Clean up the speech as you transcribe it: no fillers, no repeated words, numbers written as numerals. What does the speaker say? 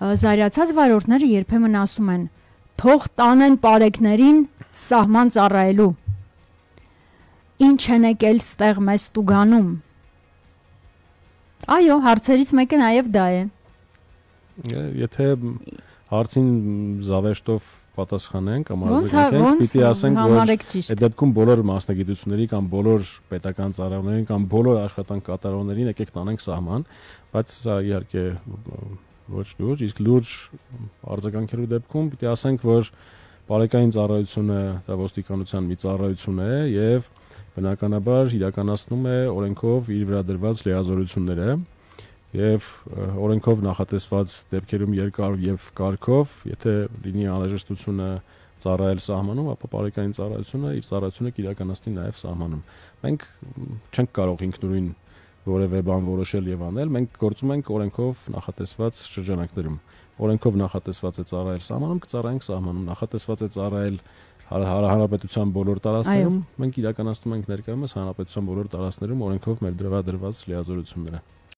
զայրացած վարորդները երբեմն ասում են. «Թող տանեն պարեկներին սահման ծառայելու»։ Ինչ են եկել ստեղ մեզ տուգանում։ Այո, հարցերից մեկը նաև դա է։ Եթե հարցին զավեշտով պատասխանենք կամ արձագանքենք, պիտի ասենք, որ այդ դեպքում բոլոր մասնագիտությունների կամ բոլոր պետական ծառայողներին կամ բոլոր աշխատանք կատարողներին եկեք տանենք սահման, բայց սա իհարկե ոչ լուրջ, իսկ լուրջ արձագանքելու դեպքում պիտի ասենք, որ բարեկային ծառայությունը դա ոստիկանության մի ծառայություն է եւ բնականաբար իրականացնում է օրենքով իր վրա դրված լիազորությունները եւ օրենքով նախատեսված դեպքերում երկար եւ կարգով, եթե լինի անհրաժեշտությունը ծառայել սահմանում, ապա բարեկային ծառայությունը իր ծառայությունը կիրականացնի նաեւ սահմանում։ Մենք չենք կարող ինքնուրույն որևէ բան որոշել եւ անել, մենք գործում ենք օրենքով նախատեսված շրջանակներում։ Օրենքով նախատեսված է ծառայել սահմանում, կծառայենք սահմանում, նախատեսված է ծառայել հանրապետության բոլոր տարածքներում, մենք իրականացնում ենք ներկայումս հանրապետության բոլոր տարածքներում օրենքով մեր դրված լիազորությունները։